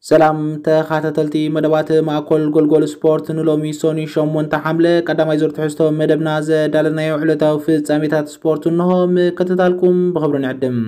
ሰላም ተኻታተልቲ መደባት ማእኮል ጎልጎል ስፖርት፣ ንሎሚ ሶኒ ሸሞንተ ሓምለ ቀዳማይ ዙር ትሕዝቶ መደብና ዘዳለናዮ ዕለታዊ ፍጻሜታት ስፖርት እንሆ። ምክትታልኩም ብኽብሪ ንዕድም።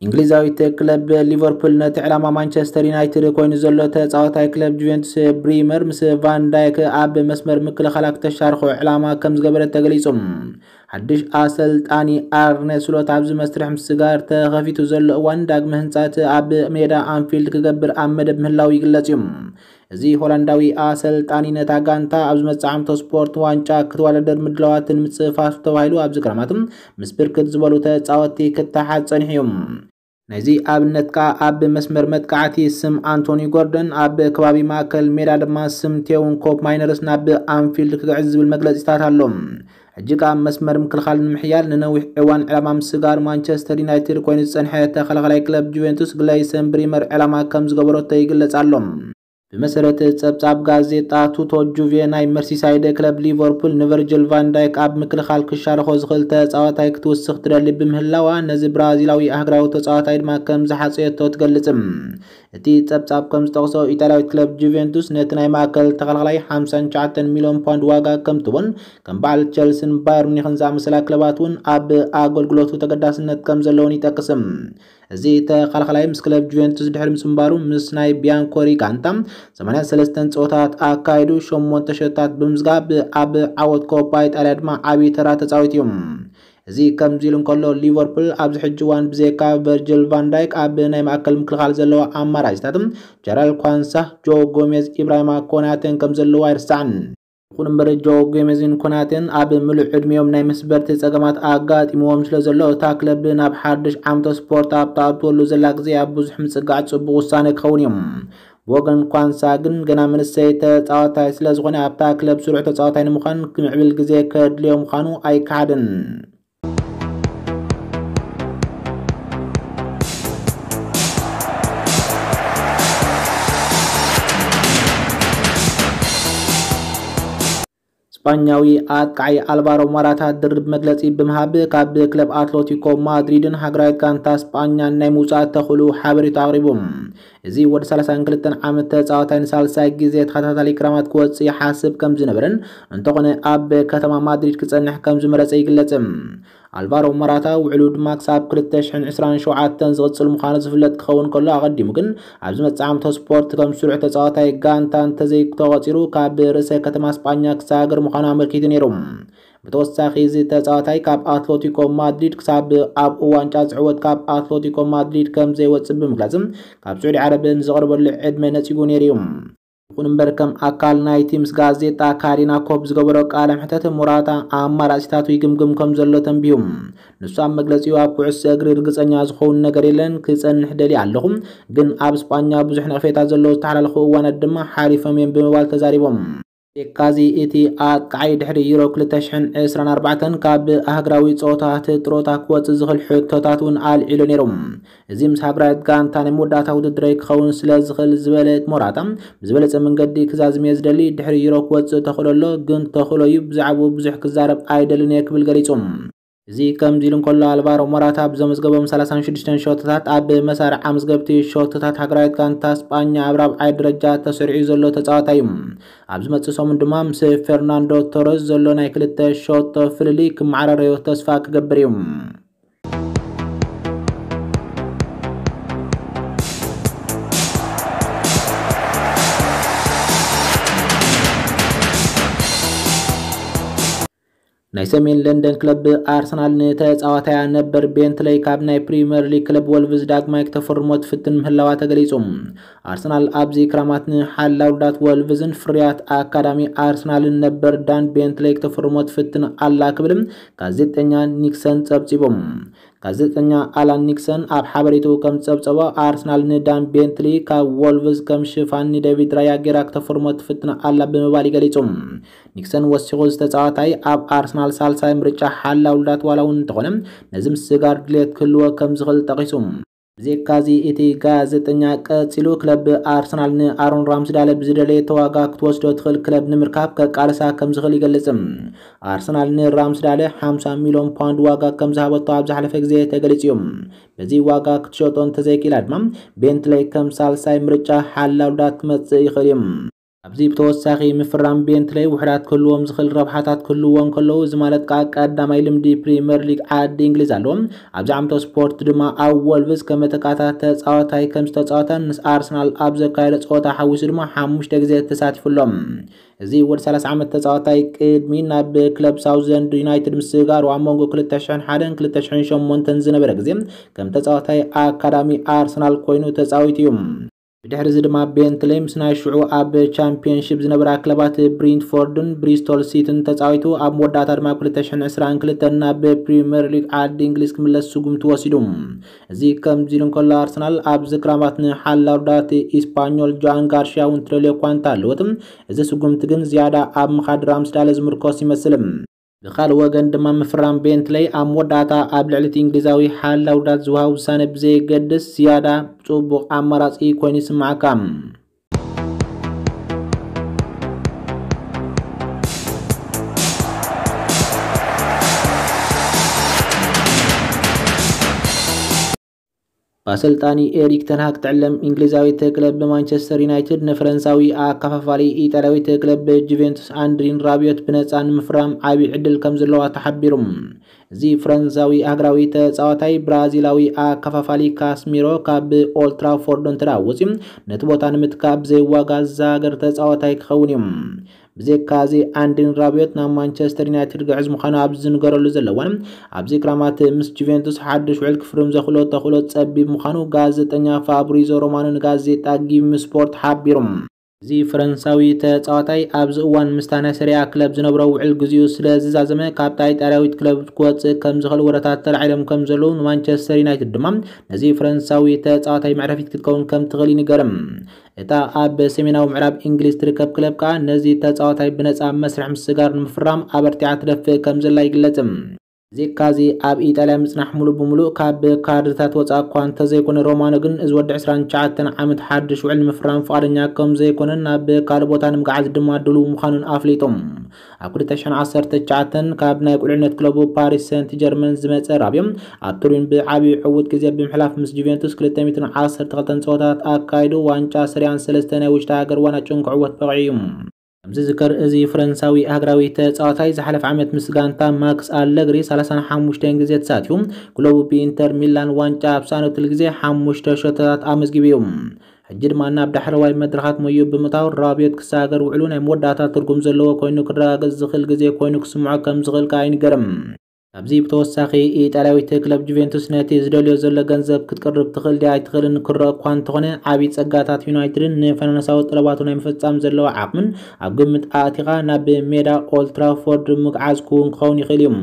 እንግሊዛዊት ክለብ ሊቨርፑል ነቲ ዕላማ ማንቸስተር ዩናይትድ ኮይኑ ዘሎ ተጻዋታይ ክለብ ጁቬንቱስ ብሪመር ምስ ቫን ዳይክ ኣብ መስመር ምክልኻላ ክተሻርኾ ዕላማ ከም ዝገበረት ተገሊጹ። ሓድሽ ኣሰልጣኒ ኣርነ ስሎት ኣብዚ መስርሕ ምስጋር ተኸፊቱ ዘሎ እዋን፣ ዳግመ ህንጻት ኣብ ሜዳ ኣንፊልድ ክገብር ኣብ መደብ ምህላው ይግለጽ እዩ። እዚ ሆላንዳዊ ኣሰልጣኒ ነታ ጋንታ ኣብ ዝመጽእ ዓመተ ስፖርት ዋንጫ ክትወዳደር ምድላዋትን ምጽፋፍ ተባሂሉ ኣብዚ ክረማት ምስ ብርክት ዝበሉ ተጻወትቲ ክተሓዝ ጸኒሑ እዩ። ናይዚ ኣብነት ከኣ ኣብ መስመር መጥቃዕቲ ስም ኣንቶኒ ጎርደን፣ ኣብ ከባቢ ማእከል ሜዳ ድማ ስም ቴውን ኮፕ ማይነርስ ናብ ኣንፊልድ ክግዕዝ ዝብል መግለጺታት ኣሎ። ሕጂ ከኣ መስመር ምክልኻል ንምሕያል ንነዊሕ እዋን ዕላማ ምስጋር ማንቸስተር ዩናይትድ ኮይኑ ዝጸንሐ ተኸላኻላይ ክለብ ጁቬንቱስ ግለይሰን ብሪመር ዕላማ ከም ዝገበረቶ ይግለጽ ኣሎ። ብመሰረት ጸብጻብ ጋዜጣ ቱቶ ጁቬ፣ ናይ መርሲሳይድ ክለብ ሊቨርፑል ንቨርጅል ቫን ዳይክ ኣብ ምክልኻል ክሻርኾ ዝኽእል ተጻዋታይ ክትውስኽ ትደሊ ብምህላዋ፣ ነዚ ብራዚላዊ ኣህግራዊ ተጻዋታይ ድማ ከም ዝሓጸየቶ ትገልጽ። እቲ ጸብጻብ ከም ዝጠቕሶ፣ ኢጣልያዊት ክለብ ጁቬንቱስ ነቲ ናይ ማእከል ተኸላኻላይ ሓምሳን ትሽዓተን ሚልዮን ፓውንድ ዋጋ ከም ትቦን፣ ከም በዓል ቸልስን ባየር ሚኒኽን ዝኣመሰላ ክለባት እውን ኣብ ኣገልግሎቱ ተገዳስነት ከም ዘለውን ይጠቅስ። እዚ ተኸላኻላይ ምስ ክለብ ጁቬንቱስ ድሕሪ ምጽንባሩ፣ ምስ ናይ ቢያንኮሪ ጋንታ ሰማንያን ሰለስተን ጸወታት ኣካይዱ፣ ሸሞንተ ሸታት ብምዝጋብ፣ ኣብ ዓወት ኮፓ ኢጣልያ ድማ ዓቢ ተራ ተጻዊቱ እዩ። እዚ ከምዚ ኢሉ እንከሎ፣ ሊቨርፑል ኣብዚ ሕጂ እዋን ብዘይካ ቨርጅል ቫን ዳይክ ኣብ ናይ ማእከል ምክልኻል ዘለዎ ኣማራጺታት ጀራል ኳንሳ፣ ጆ ጎሜዝ፣ ኢብራሂማ ኮናቴን ከም ዘለዎ ኣይርሳዕን። ይኹን እምበር፣ ጆ ጎሜዝን ኮናቴን ኣብ ምሉእ ዕድሜኦም ናይ መስበርቲ ጸገማት ኣጋጢምዎም ስለ ዘሎ፣ እታ ክለብ ናብ ሓድሽ ዓመተ ስፖርት ኣብ ትኣትወሉ ዘላ ግዜ ኣብ ብዙሕ ምጽጋዕ ጽቡቕ ውሳነ ክኸውን እዩ። ብወገን ኳንሳ ግን፣ ገና መንእሰይ ተጻዋታይ ስለ ዝኾነ፣ ኣብታ ክለብ ስሩዕ ተጻዋታይ ንምዃን ክምዕብል ግዜ ከድልዮ ምዃኑ ኣይከሓድን። ስጳኛዊ ኣጥቃዓይ ኣልቫሮ ሞራታ ድርብ መግለጺ ብምሃብ፣ ካብ ክለብ ኣትሌቲኮ ማድሪድን ሃገራዊት ጋንታ ስጳኛን ናይ ምውጻእ ተኽእሎ ሓበሬታ ኣቕሪቡ። እዚ ወዲ ሰላሳን ክልተን ዓመት ተጻዋታይ ንሳልሳይ ግዜ ተኸታታሊ ክራማት ክወጽእ ይሓስብ ከም ዝነበረን፣ እንተኾነ ኣብ ከተማ ማድሪድ ክጸንሕ ከም ዝመረጸ ይግለጽ። ኣልቫሮ ሞራታ ውዕሉ ድማ ክሳብ ክልተ ሽሕን ዕስራን ሸውዓተን ዝቕጽል ምዃኑ ዝፍለጥ ክኸውን ከሎ፣ ኣቐዲሙ ግን ኣብ ዝመጽእ ዓመተ ስፖርት ከም ስሩዕ ተጻዋታይ ጋንታ እንተዘይተቖጺሩ፣ ካብ ርእሰ ከተማ ስጳኛ ክሰጋገር ምዃኑ ኣመልኪቱ ነይሩ። ብተወሳኺ፣ እዚ ተጻዋታይ ካብ ኣትሌቲኮ ማድሪድ ክሳብ ኣብኡ ዋንጫ ዝዕወት ካብ ኣትሌቲኮ ማድሪድ ከም ዘይወጽእ ብምግላጽ፣ ካብ ስዑዲ ዓረብ ንዝቐርበሉ ዕድመ ነጺጉ ነይሩ እዩ። ይኹን እምበር፣ ከም ኣካል ናይቲ ምስ ጋዜጣ ካሪና ኮፕ ዝገበሮ ቃለ መሕተት፣ ሞራታ ኣማራጺታቱ ይግምግም ከም ዘሎ ተንቢሁ። ንሱ ኣብ መግለጺኡ፣ ኣብ ኩዕሶ እግሪ ርግጸኛ ዝኸውን ነገር የለን፣ ክጸንሕ ደልየ ኣለኹ፣ ግን ኣብ ስጳኛ ብዙሕ ነቐፌታ ዘለዎ ዝተሓላለኹ እዋናት ድማ ሓሊፎም እዮም ብምባል ተዛሪቦም። የካዚ እቲ ኣጥቃዓይ ድሕሪ ዩሮ ክልተ ሽሕን ዕስራን ኣርባዕተን ካብ ኣህግራዊ ጸወታታት ጥሮታ ክወጽእ ዝኽእል ሕቶታት እውን ኣልዒሉ ነይሩ። እዚ ምስ ሃገራዊት ጋንታ ናይ መወዳእታ ውድድረይ ክኸውን ስለ ዝኽእል ዝበለ ሞራታ፣ ብዝበለጸ መንገዲ ክዛዝም እየ ዝደሊ። ድሕሪ ዩሮ ክወጽእ ተኽእሎ ኣሎ፣ ግን ተኽእሎ እዩ። ብዛዕባኡ ብዙሕ ክዛረብ ኣይደልን እየ ክብል ገሊጹ። እዚ ከምዚ ኢሉ እንከሎ፣ ኣልቫሮ ሞራታ ብዘመዝገቦም ሰላሳን ሽዱሽተን ሾቶታት ኣብ መሳርዕ ኣመዝገብቲ ሾቶታት ሃገራዊት ጋንታ ስጳኛ ኣብ ራብዓይ ደረጃ ተሰሪዑ ዘሎ ተጻዋታይ እዩ። ኣብ ዝመጽእ ሰሙን ድማ ምስ ፌርናንዶ ቶረስ ዘሎ ናይ ክልተ ሾቶ ፍልልይ ክመዓራረዮ ተስፋ ክገብር እዩ። ናይ ሰሜን ለንደን ክለብ ኣርሰናል ንተጻዋታያ ነበር ቤንትለይ ካብ ናይ ፕሪምየር ሊግ ክለብ ወልቭዝ ዳግማይ ክተፈርሞ ትፍትን ምህላዋ ተገሊጹ። ኣርሰናል ኣብዚ ክራማት ንሓላው ውዳት ወልቭዝን ፍርያት ኣካዳሚ ኣርሰናልን ነበር ዳን ቤንትለይ ክተፈርሞ ትፍትን ኣላ ክብል ጋዜጠኛ ኒክሰን ጸብጺቡ። ጋዜጠኛ ኣላን ኒክሰን ኣብ ሓበሬትኡ ከም ዝጸብጸቦ፣ ኣርሰናል ንዳን ቤንትሊ ካብ ወልቭዝ ከም ሽፋን ንዴቪድ ራያ ጌራ ክተፈርሞ ትፍትን ኣላ ብምባል ይገሊጹ። ኒክሰን ወሲኹ፣ ዝተጻዋታይ ኣብ ኣርሰናል ሳልሳይ ምርጫ ሓላው ውዳት ዋላ እውን እንተኾነ፣ ነዚ ምስጋር ድልየት ክህልዎ ከም ዝኽእል ጠቒሱ። ብዘይካዚ እቲ ጋዜጠኛ ቀጺሉ፣ ክለብ ኣርሰናል ንኣሮን ራምስዳለ ብዝደለየቶ ዋጋ ክትወስዶ ትኽእል ክለብ ንምርካብ ከቃልሳ ከም ዝኽእል ይገልጽ። ኣርሰናል ንራምስዳለ ሓምሳ ሚልዮን ፓውንድ ዋጋ ከም ዝሃበቶ ኣብ ዝሓለፈ ግዜ ተገሊጹ እዩ። በዚ ዋጋ ክትሸጦ እንተዘይክኢላ ድማ፣ ቤንትለይ ከም ሳልሳይ ምርጫ ሓላውዳት ክመጽእ ይኽእል እዩ። ኣብዚ ብተወሳኺ፣ ምፍራም ቤንትለይ ውሕዳት ክህልዎም ዝኽእል ረብሓታት ክህልዎ እንከለዉ፣ እዚ ማለት ከኣ ቀዳማይ ልምዲ ፕሪምየር ሊግ ዓዲ እንግሊዝ ኣለዎ። ኣብዚ ዓመተ ስፖርት ድማ ኣብ ወልቭስ ከም መተካእታ ተጻዋታይ ከም ዝተጻወተ፣ ምስ ኣርሰናል ኣብ ዘካየደ ጸወታ ሓዊሱ ድማ ሓሙሽተ ግዜ ተሳቲፉ ኣሎ። እዚ ወዲ ሰላሳ ዓመት ተጻዋታይ ቅድሚ ናብ ክለብ ሳውዝኤንድ ዩናይትድ ምስግጋሩ፣ ኣብ መንጎ ክልተ ሽሕን ሓደን ክልተ ሽሕን ሸሞንተን ዝነበረ ግዜ ከም ተጻዋታይ ኣካዳሚ ኣርሰናል ኮይኑ ተጻዊቱ እዩ። ብድሕሪ እዚ ድማ ቤንትለይ ምስ ናይ ሽዑ ኣብ ቻምፒየንሺፕ ዝነበራ ክለባት ብሪንትፎርድን ብሪስቶል ሲቲን ተጻዊቱ፣ ኣብ መወዳእታ ድማ ኣብ ክልተ ሽሕን ዕስራን ክልተን ናብ ፕሪምየር ሊግ ዓዲ እንግሊዝ ክምለስ ስጉምቲ ወሲዱ። እዚ ከምዚ ኢሉ እንከሎ፣ ኣርሰናል ኣብዚ ክራማት ንሓላው ዳት ኢስፓኞል ጆኣን ጋርሽያ እውን ትደልዮ እኳ እንተሃለወት፣ እዚ ስጉምቲ ግን ዝያዳ ኣብ ምኻድ ራምስዳለ ዝምርኮስ ይመስል። ብኻልእ ወገን ድማ፣ ምፍራም ቤንትለይ ኣብ መወዳእታ ኣብ ልዕሊ እቲ እንግሊዛዊ ሓላው ዳት ዝወሃብ ውሳነ ብዘየገድስ፣ ዝያዳ ጽቡቕ ኣማራጺ ኮይኑ ይስምዓካ። ብኣሰልጣኒ ኤሪክ ተንሃግ ትዕለም እንግሊዛዊት ክለብ ብማንቸስተር ዩናይትድ ንፈረንሳዊ ኣከፋፋሊ ኢጣልያዊት ክለብ ጁቬንቱስ ኣንድሪን ራቢዮት ብነጻ ንምፍራም ዓቢ ዕድል ከም ዘለዋ ተሓቢሩ። እዚ ፈረንሳዊ ሃገራዊ ተጻዋታይ፣ ብራዚላዊ ኣከፋፋሊ ካስሚሮ ካብ ኦልትራፎርድ እንተ ደኣ ወጺኡ፣ ነቲ ቦታ ንምትካእ ብዘይ ዋጋ ዝዛገር ተጻዋታይ ክኸውን እዩ። ብዘይካ እዚ፣ ኣንድሪን ራቢዮት ናብ ማንቸስተር ዩናይትድ ግዕዝ ምዃኑ ኣብ ዝንገረሉ ዘለዋን ኣብዚ ክራማት ምስ ጁቬንቱስ ሓድሽ ውዕል ክፍርም ዘኽእሎ ተኽእሎ ጸቢብ ምዃኑ ጋዜጠኛ ፋብሪዞ ሮማኖ ንጋዜጣ ጊም ስፖርት ሓቢሩ። እዚ ፈረንሳዊ ተጻዋታይ ኣብዚ እዋን ምስታ ናይ ሰሪያ ክለብ ዝነብሮ ውዕል ግዜኡ ስለ ዝዛዘመ፣ ካብታ ኢጣልያዊት ክለብ ክወጽእ ከም ዝኽእል ወረታት ተላዒሎም ከም ዘለዉ፣ ንማንቸስተር ዩናይትድ ድማ ነዚ ፈረንሳዊ ተጻዋታይ መዕረፊት ክትከውን ከም ትኽእል ይንገርም። እታ ኣብ ሰሜናዊ ምዕራብ እንግሊዝ ትርከብ ክለብ ከኣ ነዚ ተጻዋታይ ብነጻ መስርሕ ምስጋር ንምፍራም ኣበርቲዓ ትደፍእ ከም ዘላ ይግለጽ። ዜካዚ ኣብ ኢጣልያ ምጽናሕ ሙሉእ ብምሉእ ካብ ካርድታት ወጻኢ እኳ እንተዘይኮነ፣ ሮማኖ ግን እዚ ወዲ ዕስራን ትሽዓተን ዓመት ሓድሽ ውዕል ንምፍራም ፍቓደኛ ከም ዘይኮነን ናብ ካልእ ቦታ ንምግዓዝ ድማ ድሉው ምዃኑን ኣፍሊጡ። ኣብ ክልተ ሽሕን ዓሰርተ ትሽዓተን ካብ ናይ ቁልዕነት ክለቡ ፓሪስ ሰንት ጀርመን ዝመጸ ራብዮ፣ ኣብ ቱሪን ብዓቢ ዕዉት ግዜ ብምሕላፍ ምስ ጁቬንቱስ ክልተ ሚእትን ዓሰርተ ክልተን ጸወታት ኣካይዱ ዋንጫ ሰሪያን ሰለስተ ናይ ውሽጢ ሃገር ዋንጫን ክዕወት በቒዑ እዩ። ከም ዝዝከር፣ እዚ ፈረንሳዊ ሃገራዊ ተጻዋታይ ዝሓለፈ ዓመት ምስ ጋንታ ማክስ ኣለግሪ ሰላሳን ሓሙሽተን ግዜ ተሳቲፉ፣ ክለቡ ብኢንተር ሚላን ዋንጫ ኣብ ዝሰኣነትሉ ግዜ ሓሙሽተ ሸቶታት ኣመዝጊቡ እዩ። ሕጂ ድማ ናብ ዳሕረዋይ መድረኻት ሞዩ ብምእታው፣ ራብዮት ክሰጋገር ውዕሉ ናይ መወዳእታ ትርጉም ዘለዎ ኮይኑ ክረጋገጽ ዝኽእል ግዜ ኮይኑ ክስምዖ ከም ዝኽእል ከኣ ይንገርም። ካብዚ ብተወሳኺ፣ ኢጣልያዊት ክለብ ጁቬንቱስ ነቲ ዝደልዮ ዘሎ ገንዘብ ክትቅርብ ትኽእል ድያ ኣይትኽእልን ክረአ እኳ እንተኾነ፣ ዓቢ ጸጋታት ዩናይትድን ንፋይናንሳዊ ጠለባቱ ናይ ምፍጻም ዘለዎ ዓቕምን ኣብ ግምት ኣእቲኻ ናብ ሜዳ ኦልትራፎርድ ምግዓዝ ክውን ክኸውን ይኽእል እዩ።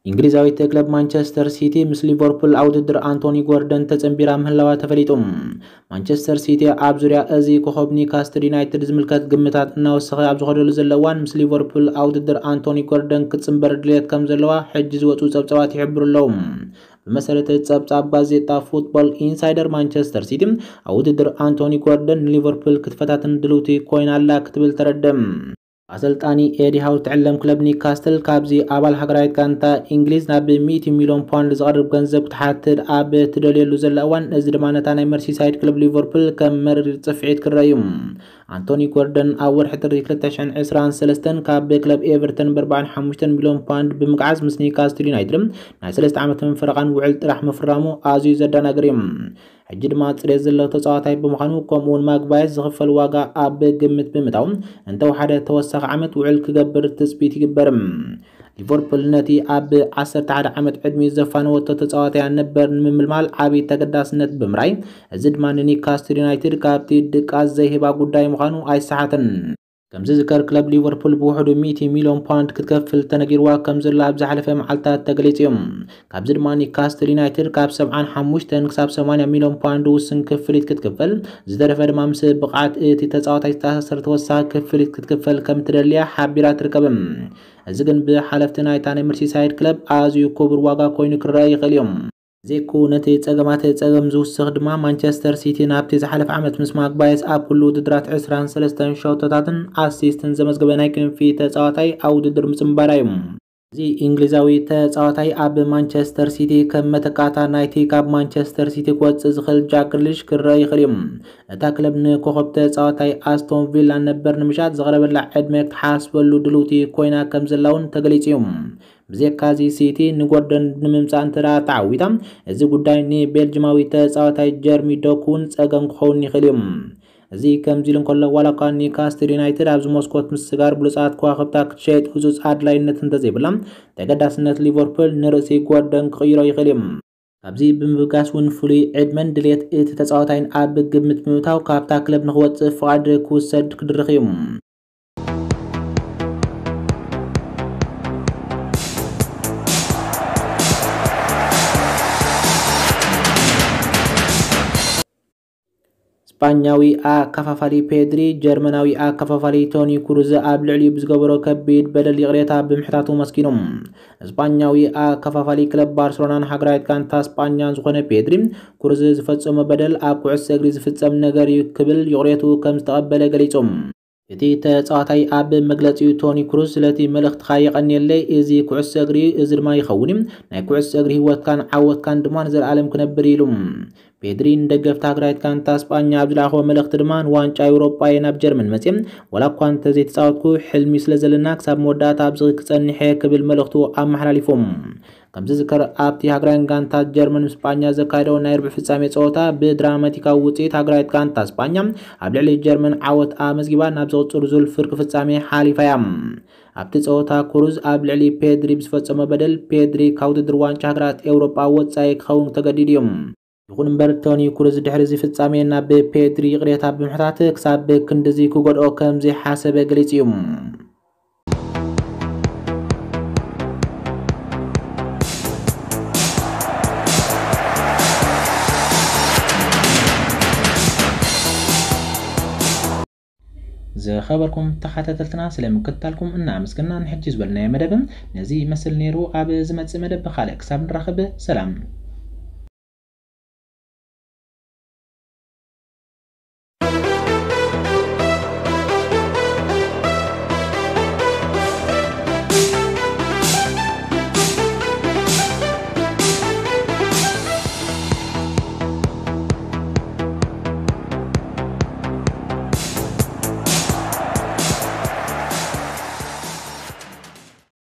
እንግሊዛዊት ክለብ ማንቸስተር ሲቲ ምስ ሊቨርፑል ኣብ ውድድር ኣንቶኒ ጎርደን ተጸንቢራ ምህላዋ ተፈሊጡ። ማንቸስተር ሲቲ ኣብ ዙርያ እዚ ኮኸብ ኒውካስትል ዩናይትድ ዝምልከት ግምታት እናወሰኸ ኣብ ዝኸደሉ ዘሎ እዋን፣ ምስ ሊቨርፑል ኣብ ውድድር ኣንቶኒ ጎርደን ክትጽንበር ድልየት ከም ዘለዋ ሕጂ ዝወጹ ጸብጻባት ይሕብሩ ኣለዉ። ብመሰረት ጸብጻብ ጋዜጣ ፉትቦል ኢንሳይደር፣ ማንቸስተር ሲቲ ኣብ ውድድር ኣንቶኒ ጎርደን ንሊቨርፑል ክትፈታትን ድልውቲ ኮይና ኣላ ክትብል ተረድእ። ኣሰልጣኒ ኤዲ ሃው ትዕለም ክለብ ኒውካስትል ካብዚ ኣባል ሃገራዊት ጋንታ እንግሊዝ ናብ ሚእቲ ሚልዮን ፓውንድ ዝቐርብ ገንዘብ ክትሓትት ኣብ ትደልየሉ ዘላ እዋን፣ እዚ ድማ ነታ ናይ መርሲሳይድ ክለብ ሊቨርፑል ከም መሪር ጽፍዒት ክረአ እዩ። ኣንቶኒ ጎርደን ኣብ ወርሒ ጥሪ ክልተ ሽሕን ዕስራን ሰለስተን ካብ ክለብ ኤቨርተን ብኣርባዓን ሓሙሽተን ሚልዮን ፓውንድ ብምግዓዝ ምስ ኒውካስትል ዩናይትድ ናይ ሰለስተ ዓመትን ፈረቓን ውዕል ጥራሕ ምፍራሙ ኣዝዩ ዘደናግር እዩ። ሕጂ ድማ ጽሬት ዘለዎ ተጻዋታይ ብምዃኑ፣ ከምኡ'ውን ማግባየስ ዝኽፈል ዋጋ ኣብ ግምት ብምእታው፣ እንተወሓደ ተወሳኺ ዓመት ውዕል ክገብር ትጽቢት ይግበር። ሊቨርፑል ነቲ ኣብ ዓሰርተ ሓደ ዓመት ዕድሚኡ ዘፋነወቶ ተጻዋታያ ነበር ንምምልማል ዓቢ ተገዳስነት ብምርኣይ፣ እዚ ድማ ንኒውካስትል ዩናይትድ ካብቲ ድቃስ ዘይህባ ጉዳይ ምዃኑ ኣይሰሓትን። ከምዚ ዝከር ክለብ ሊቨርፑል ብውሕዱ ሚእቲ ሚልዮን ፓውንድ ክትከፍል ተነጊርዋ ከም ዘላ ኣብ ዝሓለፈ መዓልታት ተገሊጹ እዩ። ካብዚ ድማ ኒካስትል ዩናይትድ ካብ ሰብዓን ሓሙሽተን ክሳብ ሰማንያ ሚልዮን ፓውንድ ውስን ክፍሊት ክትክፈል፣ ዝተረፈ ድማ ምስ ብቕዓት እቲ ተጻዋታይ ዝተኣሳሰር ተወሳኺ ክፍሊት ክትክፈል ከም ትደልያ ሓቢራ ትርከብ። እዚ ግን ብሓለፍቲ ናይታ ናይ መርሲሳይድ ክለብ ኣዝዩ ክቡር ዋጋ ኮይኑ ክረአ ይኽእል እዩ። ዘይኮ ነቲ ጸገማት ጸገም ዝውስኽ ድማ ማንቸስተር ሲቲ ናብቲ ዝሓለፈ ዓመት ምስ ማግባየስ ኣብ ኩሉ ውድድራት ዕስራን ሰለስተን ሸቶታትን ኣሲስትን ዘመዝገበ ናይ ክንፊ ተጻዋታይ ኣብ ውድድር ምጽንባራ እዩ። እዚ እንግሊዛዊ ተጻዋታይ ኣብ ማንቸስተር ሲቲ ከም መተካታ ናይቲ ካብ ማንቸስተር ሲቲ ክወጽእ ዝኽእል ጃክ ግሪሊሽ ክረአ ይኽእል እዩ። እታ ክለብ ንኮኸብ ተጻዋታይ ኣስቶን ቪላ ነበር ንምሻጥ ዘቕረበላ ዕድመ ክትሓስበሉ ድልውቲ ኮይና ከም ዘላ እውን ተገሊጹ እዩ። ብዘካዚ ሲቲ ንጎርደን ንምምጻእ እንተ ደኣ ተዓዊታ፣ እዚ ጉዳይ ንቤልጅማዊ ተጻዋታይ ጀርሚ ዶኩ እውን ጸገም ክኸውን ይኽእል እዩ። እዚ ከምዚ ኢሉ እንከሎ፣ ዋላ እኳ ኒካስትል ዩናይትድ ኣብዚ መስኮት ምስጋር ብሉጻት ከዋኽብታ ክትሸይጥ ህጹጽ ኣድላይነት እንተዘይብላ፣ ተገዳስነት ሊቨርፑል ንርእሲ ጎርደን ክቕይሮ ይኽእል እዩ። ካብዚ ብምብጋስ እውን ፍሉይ ዕድመን ድሌት እቲ ተጻዋታይን ኣብ ግምት ብምእታው ካብታ ክለብ ንኽወጽእ ፍቓድ ክውሰድ ክድርኽ እዩ። ስጳኛዊ ኣከፋፋሊ ፔድሪ ጀርመናዊ ኣከፋፋሊ ቶኒ ክሩዝ ኣብ ልዕሊኡ ብዝገበሮ ከቢድ በደል ይቕሬታ ብምሕታቱ መስኪኑ። ስጳኛዊ ኣከፋፋሊ ክለብ ባርሰሎናን ሃገራዊት ጋንታ ስጳኛን ዝኾነ ፔድሪ፣ ክሩዝ ዝፈጸሞ በደል ኣብ ኩዕሶ እግሪ ዝፍጸም ነገር እዩ ክብል ይቕሬቱ ከም ዝተቐበለ ገሊጹ። እቲ ተጻዋታይ ኣብ መግለጺኡ፣ ቶኒ ክሩዝ ስለቲ መልእኽትኻ የቐንየለይ፣ እዚ ኩዕሶ እግሪ እዩ፣ እዚ ድማ ይኸውን እዩ፣ ናይ ኩዕሶ እግሪ ህይወትካን ዓወትካን ድማ ንዘለኣለም ክነብር ኢሉ። ፔድሪ ንደገፍቲ ሃገራዊት ጋንታ ስጳኛ ኣብ ዝለኣኽዎ መልእኽቲ ድማ፣ ንዋንጫ ኤውሮጳ እየ ናብ ጀርመን መጽየ፣ ዋላ እኳ እንተዘይተጻወትኩ፣ ሕልሚ ስለ ዘለና ክሳብ መወዳእታ ኣብዚ ክጸንሕ እየ ክብል መልእኽቱ ኣመሓላሊፉ። ከምዚ ዝከር ኣብቲ ሃገራውያን ጋንታት ጀርመን ምስ ስጳኛ ዘካየደው ናይ ርብዕ ፍጻሜ ጸወታ ብድራማቲካዊ ውጽኢት ሃገራዊት ጋንታ ስጳኛ ኣብ ልዕሊ ጀርመን ዓወት ኣመዝጊባ ናብ ዝቕጽሉ ዙር ፍርቂ ፍጻሜ ሓሊፋ እያ። ኣብቲ ጸወታ ክሩዝ ኣብ ልዕሊ ፔድሪ ብዝፈጸሞ በደል ፔድሪ ካብ ውድድር ዋንጫ ሃገራት ኤውሮጳ ወጻኢ ክኸውን ተገዲዱ እዩ። ይኹን እምበር ቶኒ ክሩዝ ድሕሪ እዚ ፍጻሜ ናብ ፔድሪ ይቕሬታ ብምሕታት ክሳብ ክንድዚ ክጎድኦ ከም ዘይሓሰበ ገሊጹ እዩ። ዝኸበርኩም ተኸታተልትና ስለ ምክትታልኩም እናኣመስገና ንሕጂ ዝበልናዮ መደብ ነዚ ይመስል ነይሩ። ኣብ ዝመጽእ መደብ ብኻልእ ክሳብ ንራኸብ ሰላም።